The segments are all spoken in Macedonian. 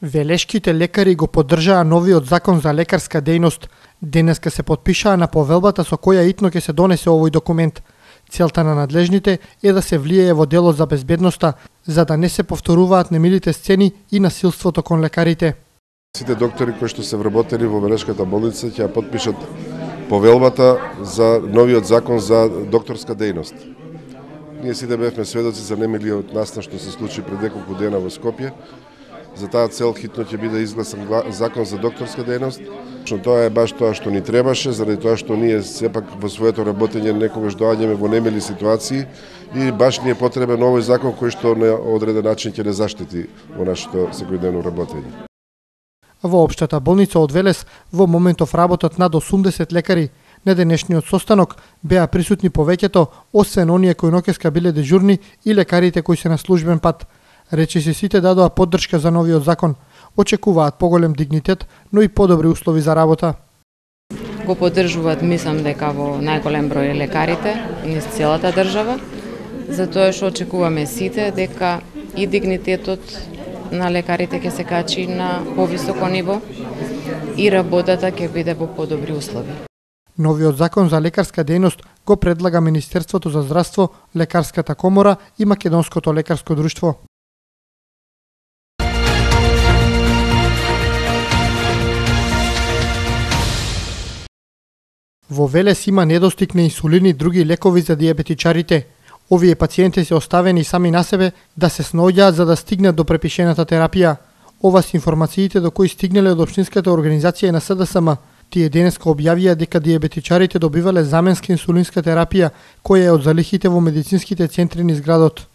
Велешките лекари го поддржаа новиот закон за лекарска дејност. Денеска се потпишаа на повелбата со која итно ќе се донесе овој документ. Целта на надлежните е да се влијае во делот за безбедноста, за да не се повторуваат немилите сцени и насилството кон лекарите. Сите доктори кои што се вработени во Велешката болница ќе ја потпишат повелбата за новиот закон за докторска дејност. Ние сите бевме сведоци за немилиот настан што се случи пред неколку дена во Скопје. За таа цел хитно ќе биде изгласан закон за докторска дејност. Тоа е баш тоа што ни требаше, заради тоа што ние сепак во своето работење некогаш доаѓаме во немили ситуации и баш ни е потребен овој закон кој што на одреден начин ќе не заштити во нашето секојдневно работење. Во општата болница од Велес во моментов работат над 80 лекари. На денешниот состанок беа присутни повеќето, освен оние кои ноќеска биле дежурни и лекарите кои се на службен пат. Речиси сите дадоа поддршка за новиот закон. Очекуваат поголем дигнитет, но и подобри услови за работа. Го поддржуваат, мислам дека во најголем број лекарите низ целата држава, затоа што очекуваме сите дека и дигнитетот на лекарите ќе се качи на повисоко ниво и работата ќе биде во подобри услови. Новиот закон за лекарска дејност го предлага Министерството за здравство, Лекарската комора и Македонското лекарско друштво. Во Велес има недостиг на инсулин и други лекови за диабетичарите. Овие пациенти се оставени сами на себе да се снаоѓаат за да стигнат до препишената терапија. Ова се информациите до кои стигнале од Општинската организација на СДСМ. Тие денеска објавија дека диабетичарите добивале заменска инсулинска терапија, која е од залихите во медицинските центри низ градот.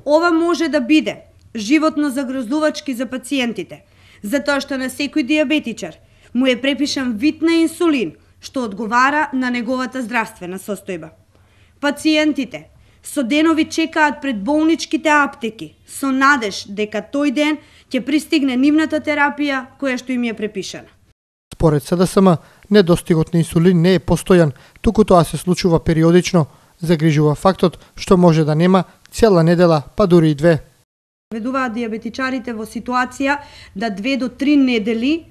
Ова може да биде животно загрозувачки за пациентите, затоа што на секој диабетичар му е препишан вид на инсулин, што одговара на неговата здравствена состојба. Пациентите со денови чекаат пред болничките аптеки, со надеж дека тој ден ќе пристигне нивната терапија која што им е препишана. Според СДСМ, недостигот на инсулин не е постојан, туку тоа се случува периодично. Загрижува фактот што може да нема цела недела, па дури и две. Ведуваат диабетичарите во ситуација да 2 до 3 недели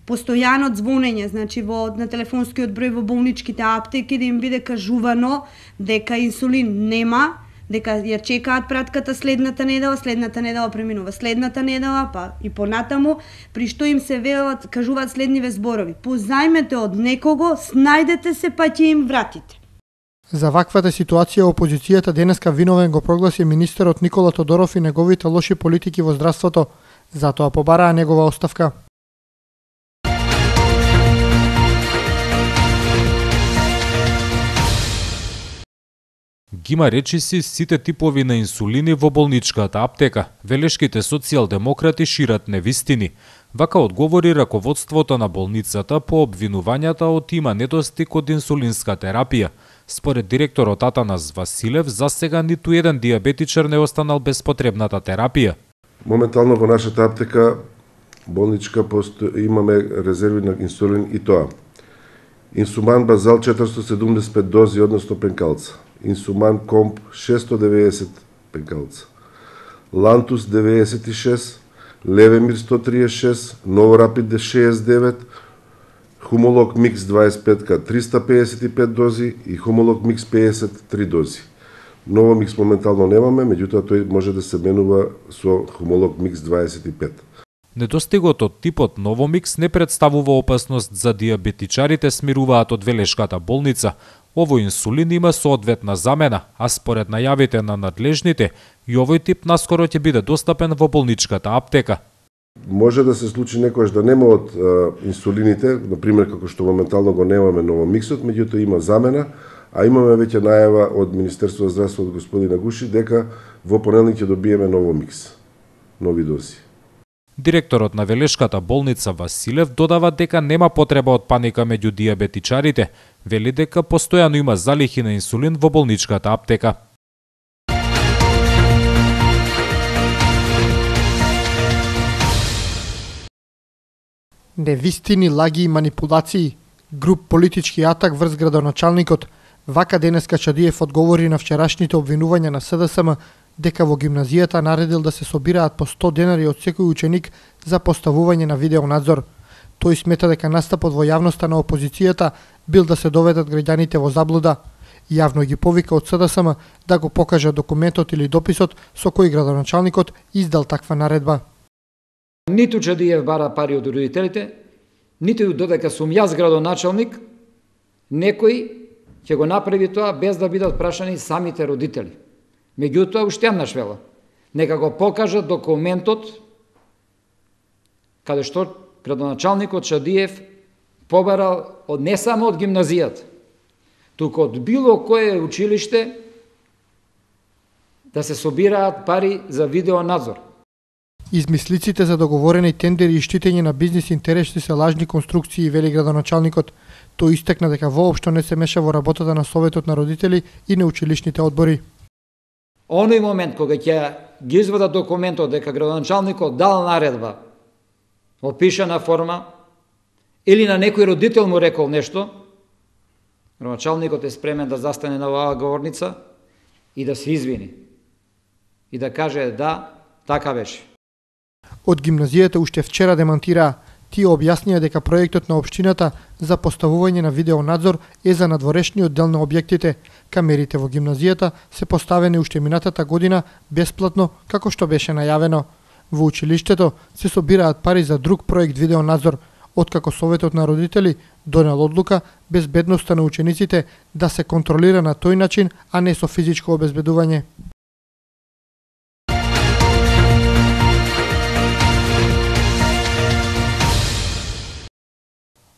постојано звонење, значи на телефонскиот број во болничките аптеки да им биде кажувано дека инсулин нема, дека ја чекаат пратката следната недела преминува следната недела, па и понатаму, при што им се велат, кажуваат следниве зборови: позајмете од некого, снајдете се па ќе им вратите. За ваквата ситуација опозицијата денеска виновен го прогласи министерот Никола Тодоров и неговите лоши политики во здравството, затоа побараа негова оставка. Ги има речиси сите типови на инсулини во болничката аптека. Велешките социјалдемократи шират невистини. Вака одговори раководството на болницата по обвинувањата од има недостиг од инсулинска терапија. Според директорот Атанас Василев, засега ниту еден диабетичар не останал без потребната терапија. Моментално во нашата аптека болничка имаме резерви на инсулин и тоа: Инсуман Базал 475 дози, односно пенкалца; Инсуман Комп 690 пенкалца; Лантус 96, Левемир 136, Новорапид 69, Хумолог Микс 25 355 дози и Хумолог Микс 53 дози. Новомикс моментално немаме, меѓутоа тој може да се менува со Хумолог Микс 25. Недостигот од типот Новомикс не представува опасност за диабетичарите, смируваат од Велешката болница. Овој инсулин има соодветна замена, а според најавите на надлежните, и овој тип наскоро ќе биде достапен во болничката аптека. Може да се случи некојаш да нема од инсулините, например како што моментално го немаме Новомиксот, меѓутоа има замена, а имаме веќе најава од Министерството за здравство од господин Агуши дека во понеделник ќе добиеме Новомикс, нови дози. Директорот на Велешката болница Василев додава дека нема потреба од паника меѓу диабетичарите. Вели дека постојано има залихи на инсулин во болничката аптека. Невистини, лаги и манипулации. Груп политички атак врз градоначалникот. Вака денеска Чадиев одговори на вчерашните обвинувања на СДСМ дека во гимназијата наредил да се собираат по 100 денари од секој ученик за поставување на видеонадзор. Тој смета дека настапот во јавноста на опозицијата бил да се доведат граѓаните во заблуда. Јавно ги повика од СДСМ да го покажат документот или дописот со кој градоначалникот издал таква наредба. Ниту Чадиев бара пари од родителите, ниту додека сум јас градоначалник, некој ќе го направи тоа без да бидат прашани самите родители. Меѓутоа, уште еднаш велам, нека го покажат документот каде што градоначалникот Чадиев побарал не само од гимназијата, туку од било кое училиште да се собираат пари за видеонадзор. Измислиците за договорени тендери и штитење на бизнис интереси се лажни конструкции, вели градоначалникот. Тој истакна дека воопшто не се меша во работата на Советот на родители и на училишните одбори. Оној момент кога ќе ги извадат документот дека градоначалникот дал наредба, опишана форма, или на некој родител му рекол нешто, градоначалникот е спремен да застане на оваа говорница и да се извини. И да каже да, така беше. Од гимназијата уште вчера демантираа. Тие објаснија дека проектот на општината за поставување на видеонадзор е за надворешниот дел на објектите. Камерите во гимназијата се поставени уште минатата година бесплатно, како што беше најавено. Во училиштето се собираат пари за друг проект видеонадзор, откако Советот на родители донел одлука безбедноста на учениците да се контролира на тој начин, а не со физичко обезбедување.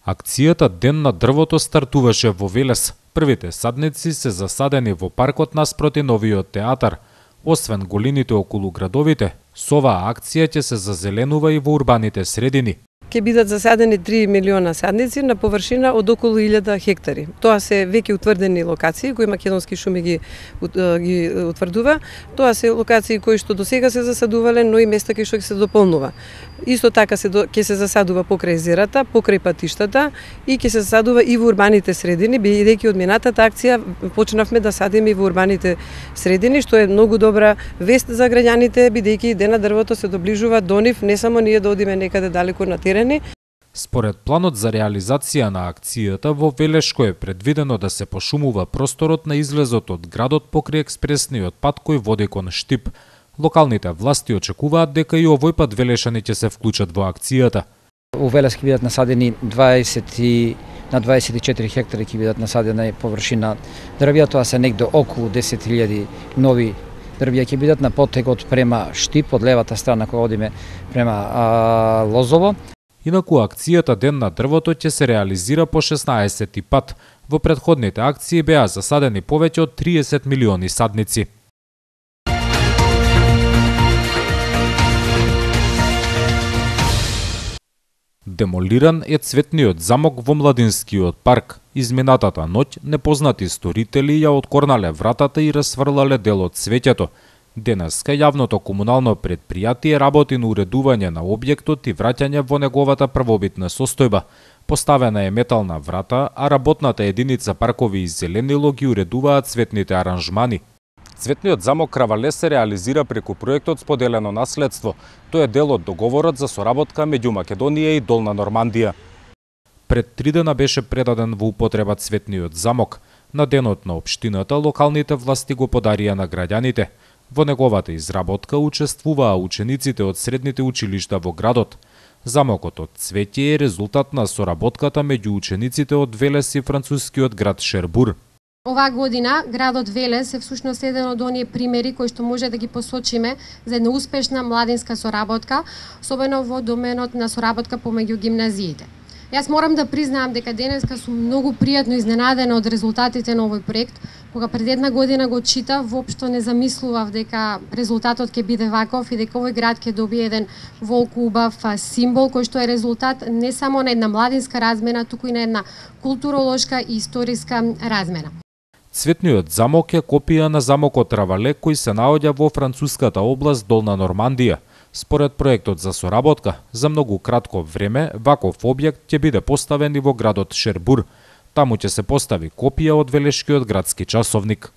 Акцијата Ден на дрвото стартуваше во Велес. Првите садници се засадени во паркот наспроти новиот театар. Освен голините околу градовите, со оваа акција ќе се зазеленува и во урбаните средини. Ќе бидат засадени 3 милиона садници на површина од околу 1000 хектари. Тоа се веќе утврдени локации кои Македонски шуми ги утврдува. Тоа се локации кои што досега се засадувале, но и места кај што ќе се дополнува. Исто така ќе се засадува покрај езерата, покрај патиштата и ќе се засадува и во урбаните средини, бидејќи од минатата акција почнавме да садиме и во урбаните средини, што е многу добра вест за граѓаните, бидејќи Ден на дрвото се доближува до нив, не само ние да одиме некаде далеко на терен. Според планот за реализација на акцијата, во Велешко е предвидено да се пошумува просторот на излезот од градот покрај експресниот пат кој води кон Штип. Локалните власти очекуваат дека и овој пат велешани ќе се вклучат во акцијата. У Велес ќе бидат насадени 24 хектари ќе бидат насадена површина дрвја, тоа се негде околу 10.000 нови дрвја ќе бидат на потегот према Штип, од левата страна кога одиме према Лозово. Инаку акцијата Ден на дрвото ќе се реализира по 16 пат. Во претходните акции беа засадени повеќе од 30 милиони садници. Демолиран е цветниот замок во Младинскиот парк. Изминатата ноќ непознати сторители ја откорнале вратата и расфрлале дел од цвеќето. Денеска јавното комунално предпријатие работи на уредување на објектот и враќање во неговата првобитна состојба. Поставена е метална врата, а работната единица паркови и зеленило ги уредуваат цветните аранжмани. Цветниот замок Кравале се реализира преку проектот Споделено наследство. Тој е дел од договорот за соработка меѓу Македонија и Долна Нормандија. Пред 3 дена беше предаден во употреба цветниот замок. На денот на општината локалните власти го подарија на граѓаните. Во неговата изработка учествуваа учениците од средните училишта во градот. Замокот од цвеќе е резултат на соработката меѓу учениците од Велес и францускиот град Шербур. Оваа година градот Велес е всушност еден од оние примери кои што може да ги посочиме за една успешна младинска соработка, особено во доменот на соработка помеѓу гимназиите. Јас морам да признаам дека денеска сум многу пријатно изненадена од резултатите на овој проект. Кога пред една година го читав, воопшто не замислував дека резултатот ќе биде ваков и дека овој град ќе добие еден волку убав символ кој што е резултат не само на една младинска размена, туку и на една културолошка и историска размена. Цветниот замок е копија на замокот Равале кој се наоѓа во француската област Долна Нормандија. Според проектот за соработка, за многу кратко време ваков објект ќе биде поставен и во градот Шербур. Таму ќе се постави копија од Велешкиот градски часовник.